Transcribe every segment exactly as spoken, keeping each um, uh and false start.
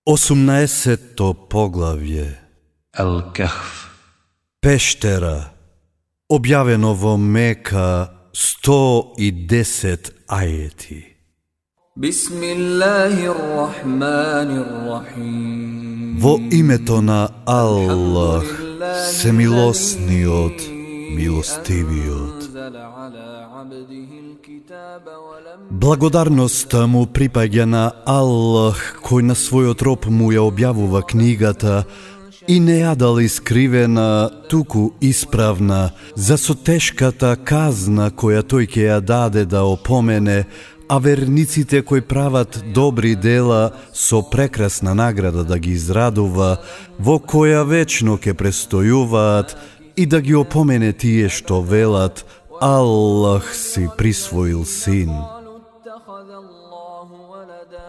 осумнаесетто поглавје. Al-Kahf. Пештера. Објавено во Мека сто и десет ајети. Во името на Аллах, семилосниот, милостивиот. Благодарноста му припаѓа на Аллах, кој на својот роб му ја објавува книгата и не ја дал искривена, туку исправна, за со тешката казна која тој ќе ја даде да опомене, а верниците кои прават добри дела со прекрасна награда да ги израдува, во која вечно ќе престојуваат, и да ги опомене тие што велат: Аллах си присвоил син.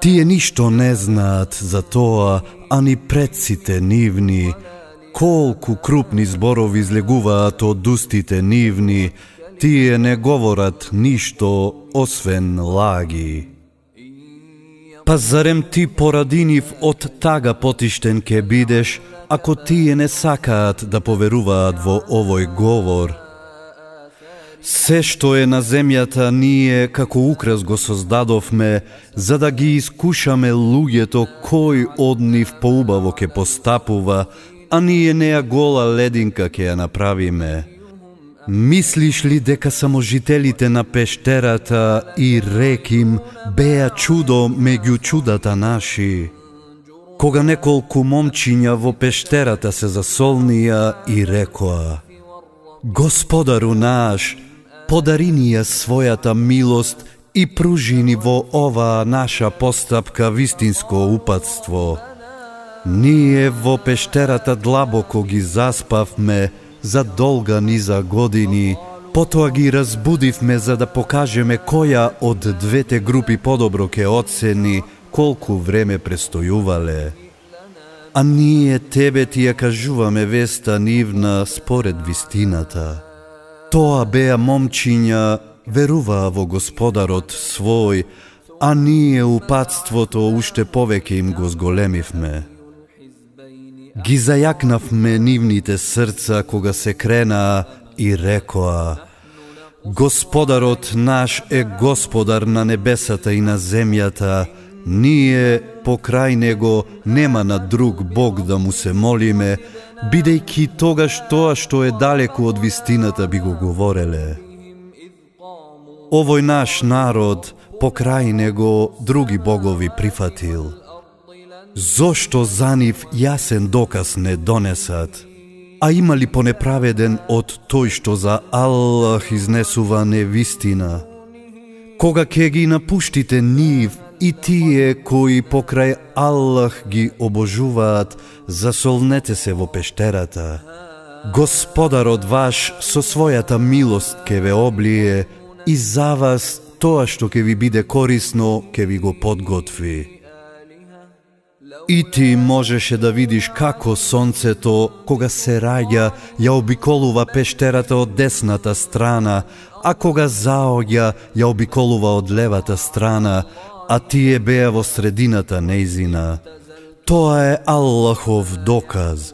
Тие ништо не знаат за тоа, ани предците нивни, колку крупни зборови излегуваат од устите нивни, тие не говорат ништо освен лаги. Па зарем ти поради нив од тага потиштен ке бидеш, ако тие не сакаат да поверуваат во овој говор? Се што е на земјата ние како украс го создадовме, за да ги искушаме луѓето кој од нив поубаво ке постапува, а ние неа гола лединка ке ја направиме. Мислиш ли дека само жителите на пештерата и реким беа чудо меѓу чудата наши? Кога неколку момчиња во пештерата се засолнија и рекоа: Господару наш, подари ни ја својата милост и пружи ни во оваа наша постапка вистинско упатство. Ние во пештерата длабоко ги заспавме за долга низа години, потоа ги разбудивме за да покажеме која од двете групи подобро ке оцени колку време престојувале. А ние тебе ти ја кажуваме веста нивна според вистината. Тоа беа момчиња, веруваа во Господарот свој, а ние упатството уште повеќе им го зголемивме. Ги зајакнавме нивните срца кога се кренаа и рекоа: Господарот наш е Господар на небесата и на земјата, ние покрај него нема на друг Бог да му се молиме, бидејќи тогаш тоа што е далеку од вистината би го говореле. Овој наш народ покрај него други богови прифатил. Зошто за нив јасен доказ не донесат? А има ли понеправеден од тој што за Аллах изнесува невистина? Кога ќе ги напуштите нив и тие кои покрај Аллах ги обожуваат, засолнете се во пештерата. Господарот ваш со својата милост ке ве облие и за вас тоа што ке ви биде корисно ке ви го подготви. И ти можеше да видиш како сонцето, кога се раѓа, ја обиколува пештерата од десната страна, а кога заоѓа, ја обиколува од левата страна, а тие беа во средината нејзина. Тоа е Аллахов доказ.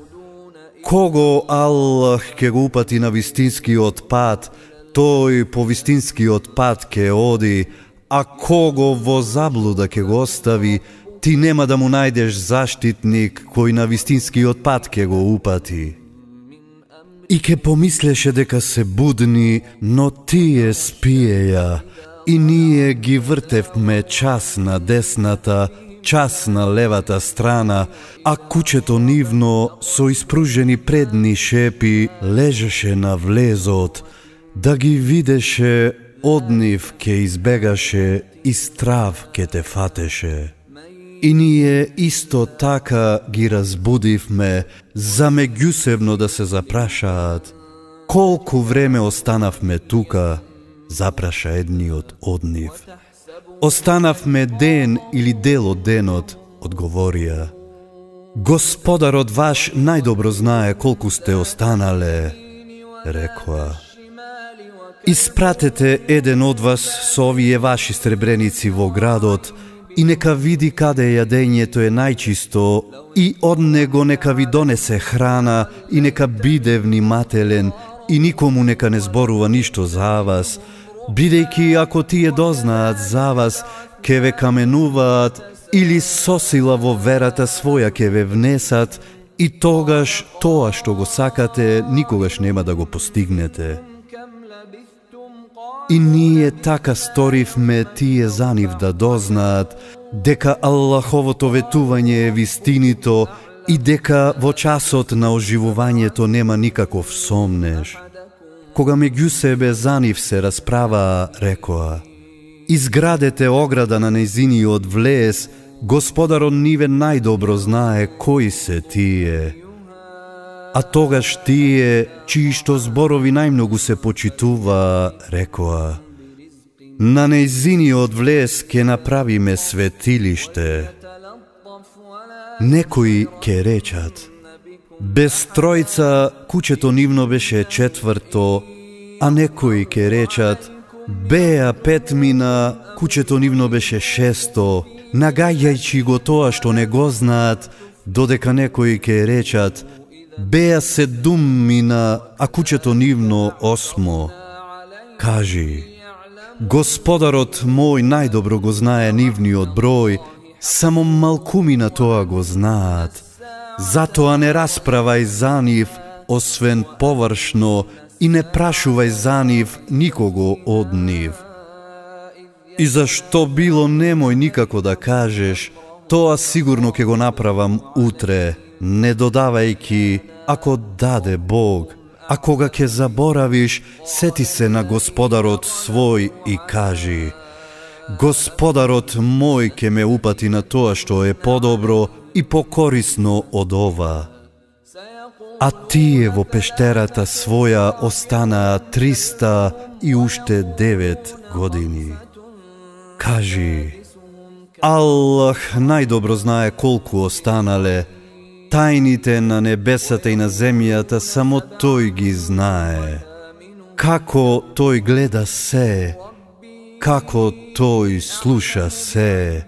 Кого Аллах ке го упати на вистинскиот пат, тој по вистинскиот пат ке оди, а кого во заблуда ке го остави, ти нема да му најдеш заштитник кој на вистинскиот пат ке го упати. И ке помислеше дека се будни, но тие спиеја, и ние ги вртевме час на десната, час на левата страна, а кучето нивно со испружени предни шепи лежеше на влезот, да ги видеше, од нив ке избегаше и страв ке те фатеше. И ние исто така ги разбудивме, за меѓусебно да се запрашаат: колку време останавме тука? Запраша едниот од нив. Останавме ден или дел од денот, одговорија. Господарот ваш најдобро знае колку сте останале, рекоа. Испратете еден од вас со овие ваши сребреници во градот и нека види каде јадењето е најчисто и од него нека ви донесе храна и нека биде внимателен и никому нека не зборува ништо за вас, бидејќи ако тие дознаат за вас, ке ве каменуваат или со сила во верата своја ке ве внесат и тогаш тоа што го сакате никогаш нема да го постигнете. И ние така сторивме тие за нив да дознаат дека Аллаховото ветување е вистинито и дека во часот на оживувањето нема никаков сомнеж. Кога меѓу себе за нив се расправаа, рекоа: изградете ограда на нејзиниот влез, Господарот ниве најдобро знае кои се тие. А тогаш тие, чии што зборови најмногу се почитува, рекоа: на нејзиниот влез ке направиме светилиште. Некои ке речат: без тројца куќето нивно беше четврто, а некои ке речат: беа петмина, куќето нивно беше шесто, нагаѓајќи го тоа што не го знаат, додека некои ке речат: беа седуммина, а куќето нивно осмо. Кажи: Господарот мој најдобро го знае нивниот број, само малкумина тоа го знаат. Затоа не расправај за нив, освен површно, и не прашувај за нив никого од нив. И зашто било немој никако да кажеш, тоа сигурно ќе го направам утре, не додавајки, ако даде Бог. А кога ќе заборавиш, сети се на Господарот свој и кажи: Господарот мој ќе ме упати на тоа што е подобро и покорисно од ова. А тие во пештерата своја останаа триста и уште девет години. Кажи: Аллах најдобро знае колку останале, тајните на небесата и на земјата само Тој ги знае. Како Тој гледа се, како Тој слуша се.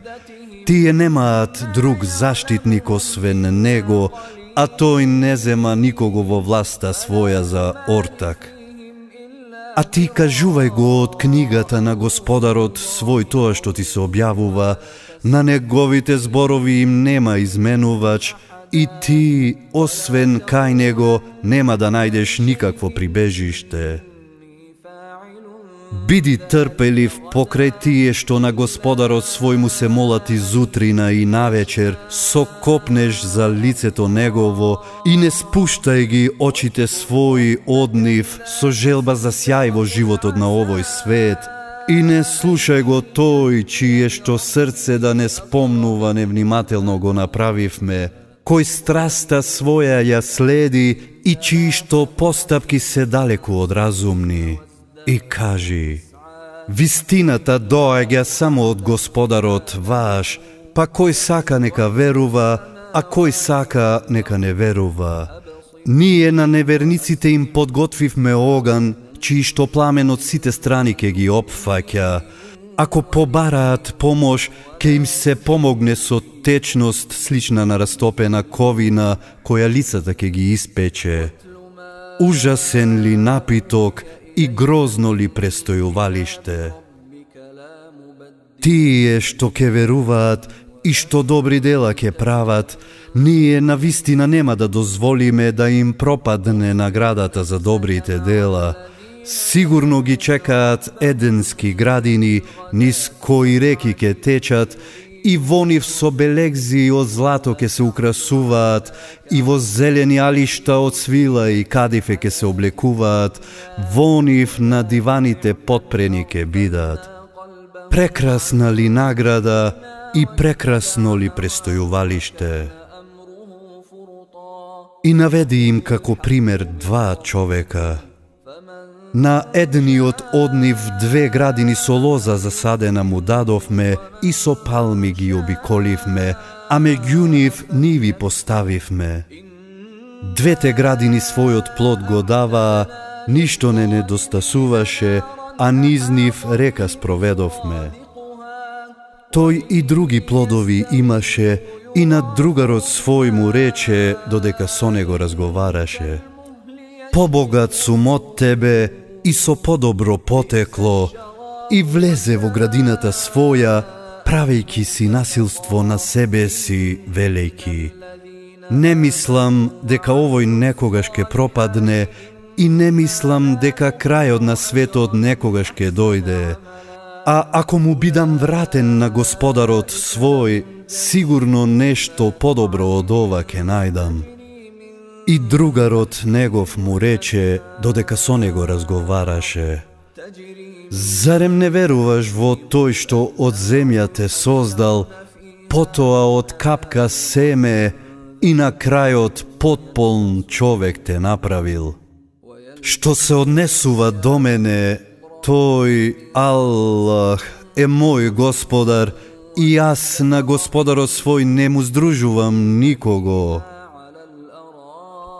Тие немаат друг заштитник освен Него, а Тој не зема никого во власта своја за ортак. А ти кажувај го од книгата на Господарот свој тоа што ти се објавува, на неговите зборови им нема изменувач, и ти, освен кај него, нема да најдеш никакво прибежиште. Биди трпелив покрај тие што на Господарот свој му се молат изутрина и навечер, сокопнеш за лицето негово и не спуштај ги очите своји од нив со желба за сјај во животот на овој свет, и не слушај го тој чие што срце да не спомнува невнимателно го направивме, кој страста своја ја следи и чии што постапки се далеку од разумни. И кажи: вистината доаѓа само од Господарот ваш, па кој сака нека верува, а кој сака нека не верува. Ние на неверниците им подготвивме оган, чии што пламен од сите страни ке ги опфаќа. Ако побараат помош, ке им се помогне со течност слична на растопена ковина, која лицата ке ги испече. Ужасен ли напиток и грозно ли престојувалиште? Тие што ке веруваат и што добри дела ке прават, ние навистина нема да дозволиме да им пропадне наградата за добрите дела. Сигурно ги чекаат еденски градини, низ кои реки ке течат, и во нив со белегзи од злато ке се украсуваат, и во зелени алишта од свила и кадифе ке се облекуваат, во нив на диваните потпрени ке бидат. Прекрасна ли награда и прекрасно ли престојувалиште? И наведи им како пример два човека. На едниот од нив две градини со лоза засадена му дадовме и со палми ги обиколивме, а меѓу нив ниви поставивме. Двете градини својот плод го даваа, ништо не недостасуваше, а низ нив река спроведовме. Тој и други плодови имаше и на другарот свој му рече додека со него разговараше: побогат сум од тебе и со подобро потекло, и влезе во градината своја, правејќи си насилство на себе си, велејќи: не мислам дека овој некогаш ке пропадне и не мислам дека крајот на светот некогаш ке дојде. А ако му бидам вратен на Господарот свој, сигурно нешто подобро од ова ке најдам. И другарот негов му рече додека со него разговараше: зарем не веруваш во тој што од земја те создал, потоа од капка семе и на крајот потполн човек те направил? Што се однесува до мене, тој Аллах е мој Господар и јас на Господарот свој не му здружувам никого.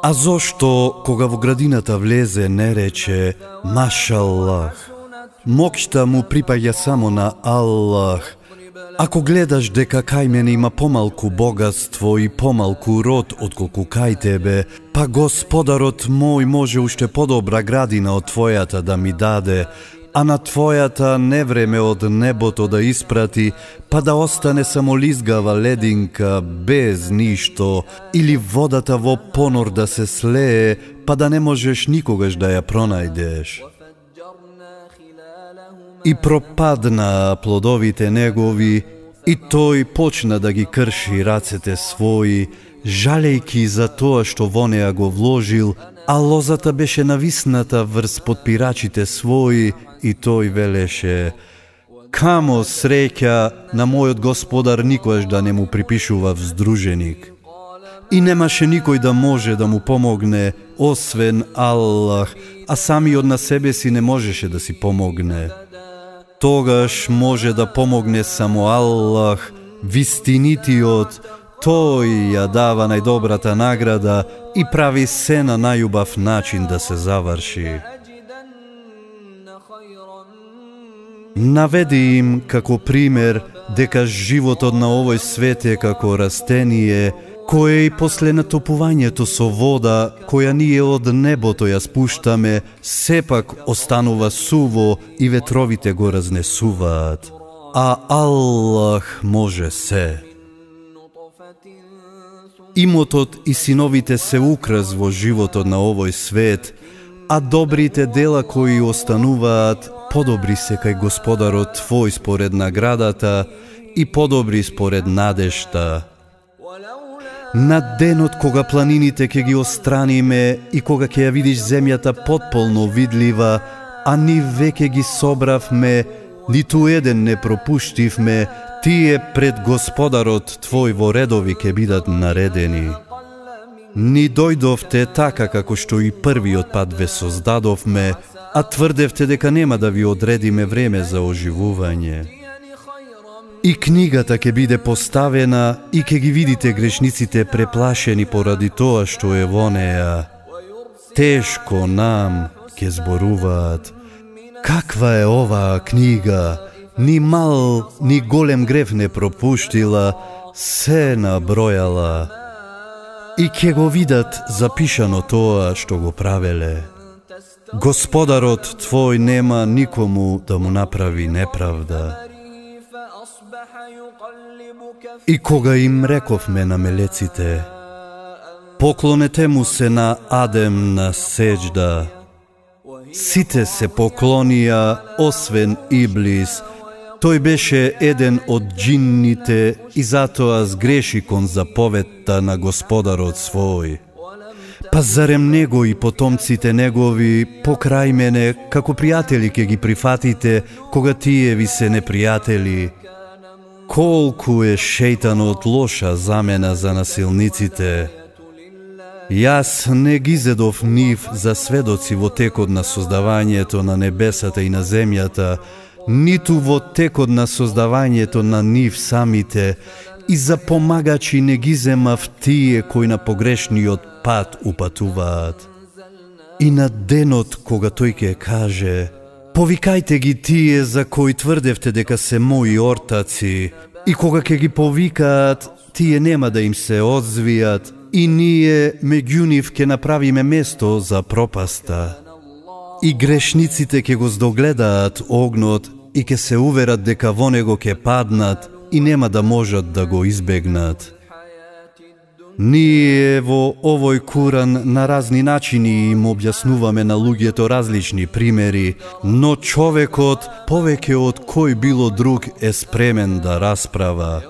А зошто кога во градината влезе не рече Машаллах? Моќта му припаѓа само на Аллах. Ако гледаш дека кај мене има помалку богатство и помалку род отколку кај тебе, па Господарот мој може уште подобра градина од твојата да ми даде, а на твојата невреме од небото да испрати, па да остане само лизгава лединка без ништо, или водата во понор да се слее, па да не можеш никогаш да ја пронајдеш. И пропадна плодовите негови, и тој почна да ги крши рацете своји, жалејки за тоа што во неа го вложил, а лозата беше нависната врз подпирачите своји, и тој велеше: камо среќа на мојот Господар никош да не му припишува вздруженик. И немаше никој да може да му помогне, освен Аллах, а самиот на себе си не можеше да си помогне. Тогаш може да помогне само Аллах, вистинитиот, тој ја дава најдобрата награда и прави се на најубав начин да се заврши. Наведи им како пример дека животот на овој свет е како растение, кое и после натопувањето со вода, која ние од небото ја спуштаме, сепак останува суво и ветровите го разнесуваат. А Аллах може се. Имотот и синовите се украс во животот на овој свет, а добрите дела кои остануваат, подобри се кај Господарот твој според наградата и подобри според надежта. На денот кога планините ќе ги остраниме и кога ќе ја видиш земјата потполно видлива, а ни веќе ги собравме, ниту еден не пропуштивме, тие пред Господарот твој во редови ќе бидат наредени. Ни дојдовте така како што и првиот пат ве создадовме, а тврдевте дека нема да ви одредиме време за оживување. И книгата ќе биде поставена и ќе ги видите грешниците преплашени поради тоа што е во неа. Тешко нам ќе зборуваат: каква е оваа книга? Ни мал, ни голем грев не пропуштила, се набројала. И ќе го видат запишано тоа што го правеле. Господарот твој нема никому да му направи неправда. И кога им рековме на мелеците: поклонете му се на Адем на сеџда, сите се поклонија, освен Иблис. Тој беше еден од џинните и затоа сгреши кон заповедта на Господарот свој. Па зарем него и потомците негови покрај мене како пријатели ќе ги прифатите, кога тие ви се непријатели? Колку е шејтанот лоша замена за насилниците! Јас не ги зедов нив за сведоци во текот на создавањето на небесата и на земјата, ниту во текот на создавањето на нив самите, и за помагачи не ги земав тие кои на погрешниот пат упатуваат. И на денот кога тој ќе каже: Повикајте ги тие за кои тврдевте дека се мои ортаци, и кога ќе ги повикаат, тие нема да им се одзвијат, и ние меѓу нив ќе направиме место за пропаста. И грешниците ќе го здогледаат огнот и ќе се уверат дека во него ќе паднат и нема да можат да го избегнат. Ние во овој Куран на разни начини им објаснуваме на луѓето различни примери, но човекот повеќе од кој било друг е спремен да расправа.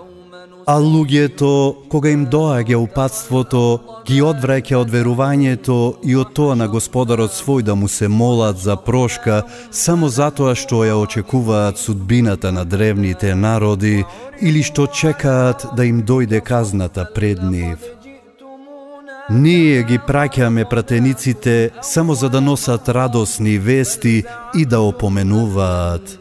А луѓето, кога им доаѓа упатството, ги одвраќа од верувањето и од тоа на Господарот свој да му се молат за прошка, само затоа што ја очекуваат судбината на древните народи или што чекаат да им дојде казната пред нив. Ние ги праќаме пратениците само за да носат радосни вести и да опоменуваат.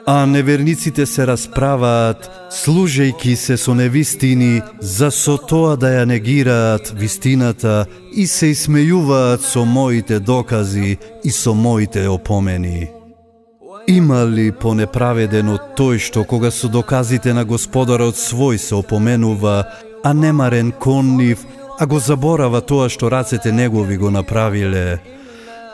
А неверниците се расправаат, служејки се со невистини, за со тоа да ја негираат вистината и се исмејуваат со моите докази и со моите опомени. Има ли понеправеден од тој што кога со доказите на Господарот свој се опоменува, а немарен кон нив, а го заборава тоа што рацете негови го направиле?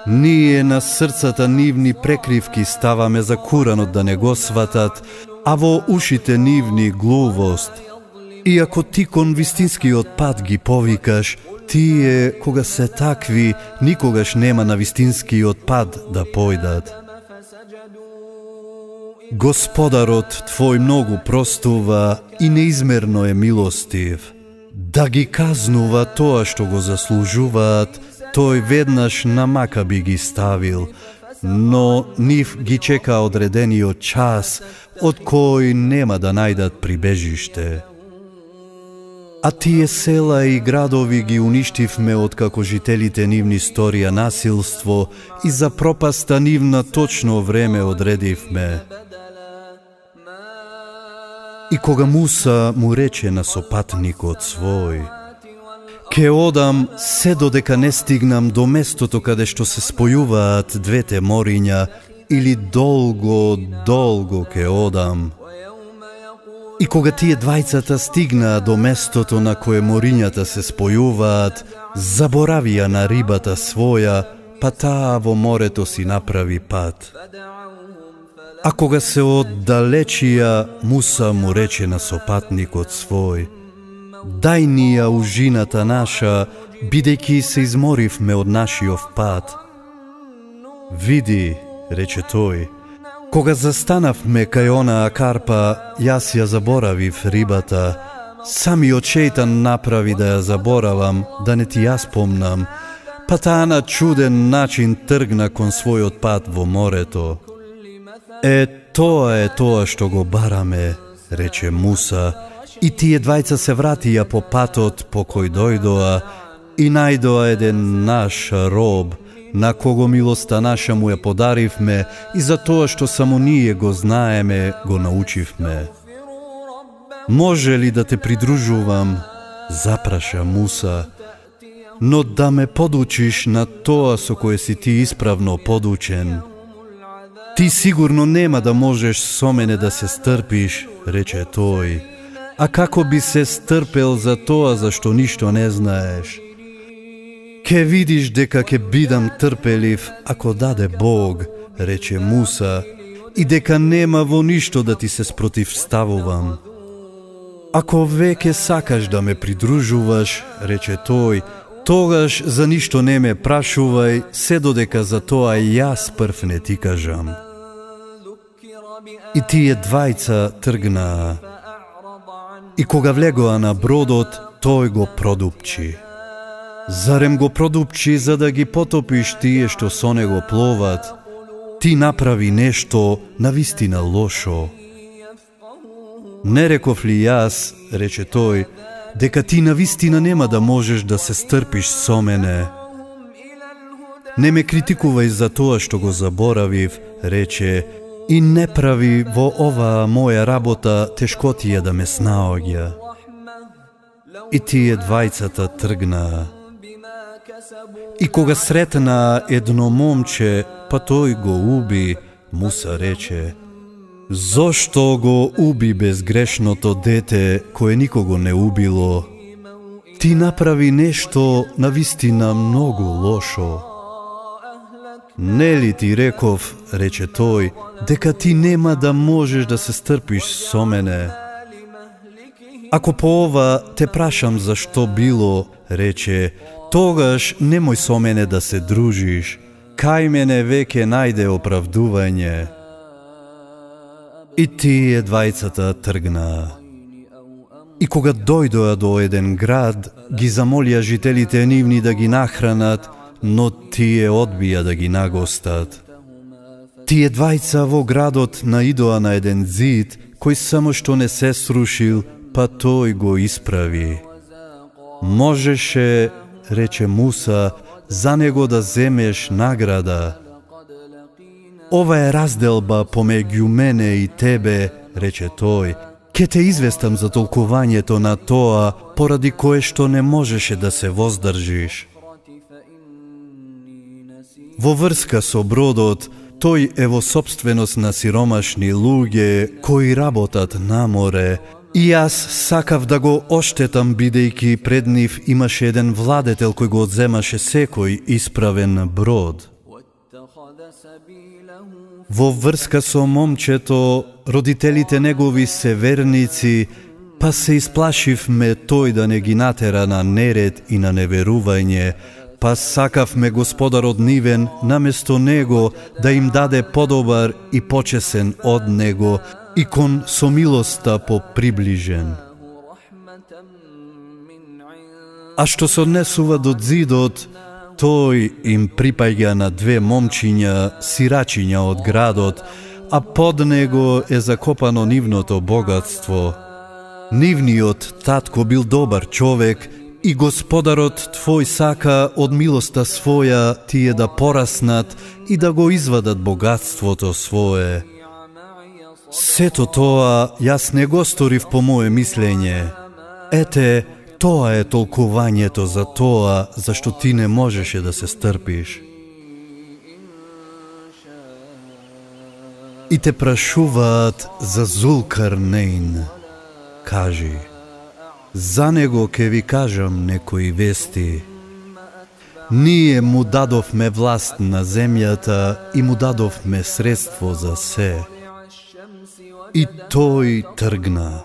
Ние на срцата нивни прекривки ставаме за Куранот да не го сватат, а во ушите нивни глувост. И ако ти кон вистинскиот пат ги повикаш, тие, кога се такви, никогаш нема на вистинскиот пат да појдат. Господарот твој многу простува и неизмерно е милостив. Да ги казнува тоа што го заслужуваат, тој веднаш на мака би ги ставил, но нив ги чека одредениот час, од кој нема да најдат прибежиште. А тие села и градови ги уништивме откако жителите нивни сторија насилство и за пропаста нивна точно време одредивме. И кога Муса му рече на сопатникот свој: ке одам се додека не стигнам до местото каде што се спојуваат двете мориња, или долго, долго ке одам. И кога тие двајцата стигнаа до местото на кое морињата се спојуваат, заборавија на рибата своја, па таа во морето си направи пат. А кога се оддалечија, Муса му рече на сопатникот свој: дај ни ја ужината наша, бидејќи се изморивме од нашиов пат. Види, рече тој, кога застанавме кај онаа карпа, јас ја заборавив рибата. Самиот шејтан направи да ја заборавам, да не ти ја спомнам, па таа на чуден начин тргна кон својот пат во морето. Е, тоа е тоа што го бараме, рече Муса, и тие двајца се вратија по патот по кој дојдоа и најдоа еден наш роб, на кого милоста наша му ја подаривме и за тоа што само ние го знаеме, го научивме. Може ли да те придружувам? Запраша Муса, но да ме подучиш на тоа со кое си ти исправно подучен. Ти сигурно нема да можеш со мене да се стрпиш, рече тој. А како би се стрпел за тоа за што ништо не знаеш? Ке видиш дека ке бидам трпелив ако даде Бог, рече Муса, и дека нема во ништо да ти се спротивставувам. Ако веќе сакаш да ме придружуваш, рече тој, тогаш за ништо не ме прашувај, се додека за тоа јас прв не ти кажам. И тие двајца тргнаа. И кога влегоа на бродот, тој го продупчи. Зарем го продупчи за да ги потопиш тие што со него пловат? Ти направи нешто навистина лошо. Не реков ли јас, рече тој, дека ти навистина нема да можеш да се стрпиш со мене? Не ме критикувај за тоа што го заборавив, рече, и не прави во оваа моја работа тешкотија да ме снаоѓа. И тие двајцата тргнаа. И кога сретна едно момче, па тој го уби, Муса рече: зошто го уби безгрешното дете кое никого не убило? Ти направи нешто навистина многу лошо. Нели ти реков, рече тој, дека ти нема да можеш да се стрпиш со мене? Ако по ова те прашам зашто било, рече, тогаш немој со мене да се дружиш, кај мене веќе најде оправдување. И тие двајцата тргнаа. И кога дојдоа до еден град, ги замолија жителите нивни да ги нахранат, но тие одбија да ги нагостат. Тие двајца во градот наидоа на еден зид, кој само што не се срушил, па тој го исправи. Можеше, рече Муса, за него да земеш награда. Ова е разделба помеѓу мене и тебе, рече тој. Ке те известам за толкувањето на тоа, поради кое што не можеше да се воздржиш. Во врска со бродот, тој е во собственост на сиромашни луѓе кои работат на море, и јас сакав да го оштетам, бидејќи пред нив имаше еден владетел кој го одземаше секој исправен брод. Во врска со момчето, родителите негови се верници, па се исплашивме тој да не ги натера на неред и на неверување, па сакавме Господарот нивен наместо него да им даде подобар и почесен од него и кон со милоста поприближен. А што се однесува до зидот, тој им припаѓа на две момчиња, сирачиња од градот, а под него е закопано нивното богатство. Нивниот татко бил добар човек и Господарот твој сака од милоста своја тие да пораснат и да го извадат богатството свое. Сето тоа јас не го сторив по моје мислење. Ете, тоа е толкувањето за тоа зашто ти не можеше да се стрпиш. И те прашуваат за Зулкарнейн. Кажи, за него ке ви кажам некои вести. Ние му дадовме власт на земјата и му дадовме средство за се. И тој тргна.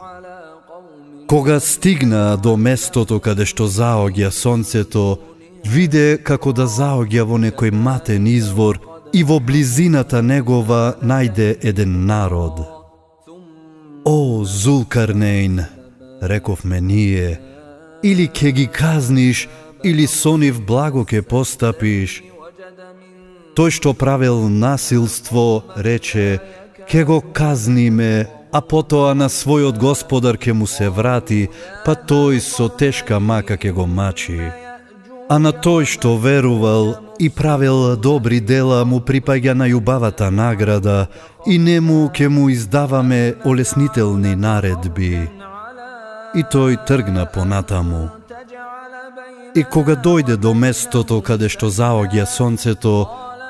Кога стигна до местото каде што заоѓа сонцето, виде како да заоѓа во некој матен извор и во близината негова најде еден народ. О, Зулкарнейн, рековме ние, или ке ги казниш, или со нив благо ке постапиш. Тој што правел насилство, рече, ке го казниме, а потоа на својот Господар ке му се врати, па тој со тешка мака ке го мачи. А на тој што верувал и правил добри дела му припаѓа најубавата награда и нему ке му издаваме олеснителни наредби. И тој тргна понатаму. И кога дојде до местото каде што заоѓа сонцето,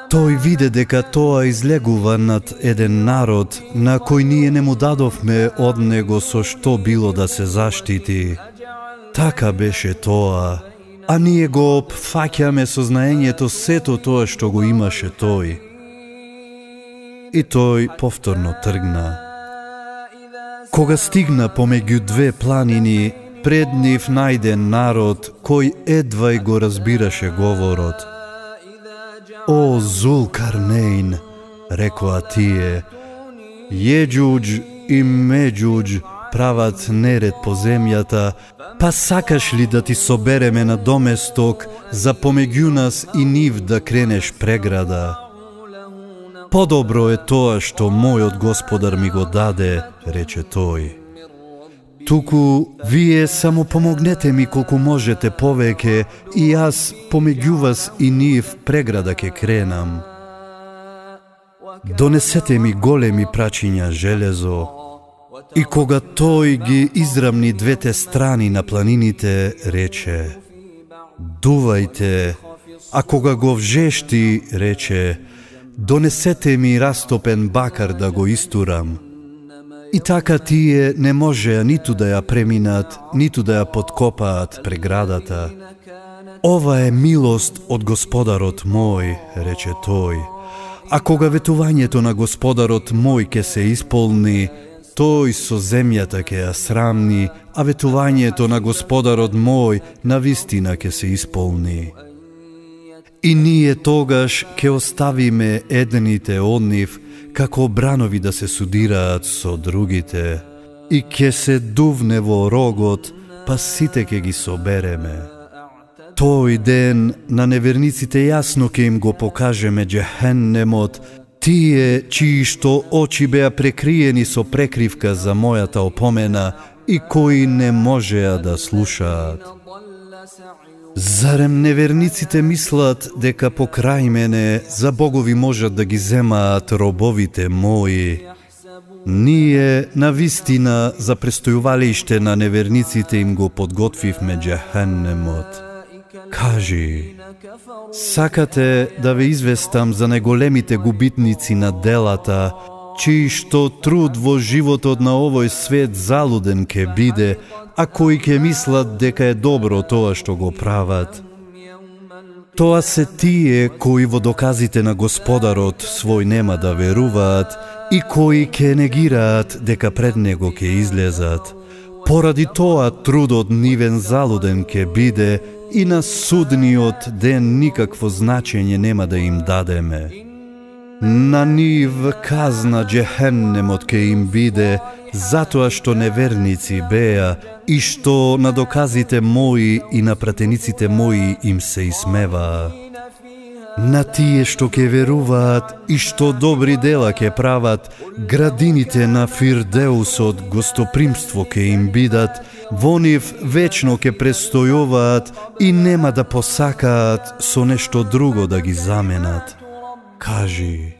тој виде дека тоа излегува над еден народ на кој ние не му дадовме од него со што било да се заштити. Така беше тоа, а ние го опфаќаме со знаењето сето тоа што го имаше тој. И тој повторно тргна. Кога стигна помеѓу две планини, пред нив најде народ кој едвај го разбираше говорот. О, Зулкарнейн, рекоа тие, Јеџуџ и Меџуџ прават неред по земјата, па сакаш ли да ти собереме на доместок за помеѓу нас и нив да кренеш преграда? Подобро е тоа што мојот Господар ми го даде, рече тој. Туку вие само помогнете ми колку можете повеќе и јас помеѓу вас и нив преграда ке кренам. Донесете ми големи прачиња железо. И кога тој ги израмни двете страни на планините, рече: Дувајте, а кога го вжешти, рече, донесете ми растопен бакар да го истурам. И така тие не можеа ниту да ја преминат, ниту да ја подкопаат преградата. Ова е милост од Господарот мој, рече тој. А кога ветувањето на Господарот мој ке се исполни, тој со земјата ке ја срамни, а ветувањето на Господарот мој навистина ке се исполни. И ние тогаш ке оставиме едните од нив, како бранови да се судираат со другите, и ке се дувне во рогот, па сите ке ги собереме. Тој ден на неверниците јасно ке им го покажеме џехеннемот, тие чии што очи беа прекриени со прекривка за мојата опомена и кои не можеа да слушаат. Зарем неверниците мислат дека покрај мене за богови можат да ги земаат робовите мои? Ние навистина за престојувалиште на неверниците им го подготвивме џехеннемот. Кажи, сакате да ве известам за најголемите губитници на делата, чии што труд во животот на овој свет залуден ке биде, а кои ке мислат дека е добро тоа што го прават. Тоа се тие кои во доказите на Господарот свој нема да веруваат и кои ке негираат дека пред него ке излезат. Поради тоа трудот нивен залуден ке биде и на судниот ден никакво значење нема да им дадеме. На нив казна џехеннемот ке им биде, затоа што неверници беа и што на доказите мои и на пратениците мои им се исмеваа. На тие што ке веруваат и што добри дела ке прават, градините на Фирдеусот гостопримство ке им бидат, во нив вечно ке престојуваат и нема да посакаат со нешто друго да ги заменат. Кажи,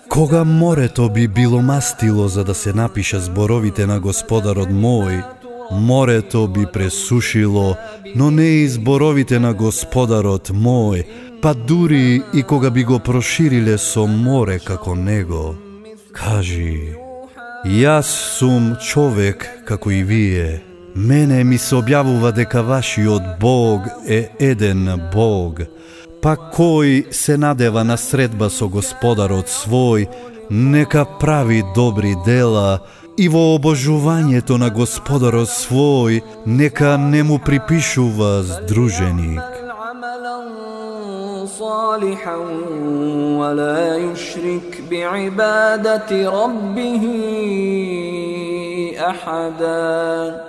кога морето би било мастило за да се напиша зборовите на Господарот мој, морето би пресушило, но не и зборовите на Господарот мој, па дури и кога би го прошириле со море како него. Кажи, јас сум човек како и вие. Мене ми се објавува дека вашиот Бог е еден Бог. Па кој се надева на средба со Господарот свој, нека прави добри дела и во обожувањето на Господарот свој нека не му припишува здруженик. صالحا ولا يشرك بعبادة ربه أحدا